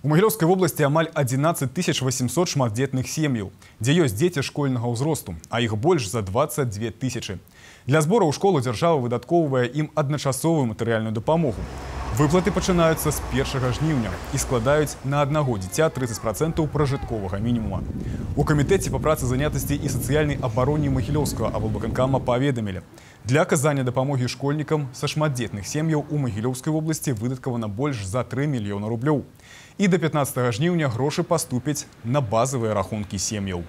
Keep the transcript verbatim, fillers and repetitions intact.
У Магілёўскай вобласці амаль адзінаццаць тысяч васемсот шматдзетных сем'яў, дзе ёсць дзеці школьнага ўзросту, а іх больш за дваццаць дзве тысячы. Для збору ў школу дзяржава выдаткоўвае ім адначасовую матэрыяльную дапамогу. Выплаты пачынаюцца з першага жніўня і складаюць на аднаго дзіця трыццаць працэнтаў пражытковага мінімума. У камітэце па працы занятасці і сацыяльнай абароне Магілёўскага аблвыканкама паведамілі. Для аказання дапамогі школьнікам са шматдзетных сем'яў у Магілёўскай вобласці выдаткавана больш за тры мільёны рублёў. І да пятнаццатага жніўня грошы паступяць на базавыя рахункі сем'яў.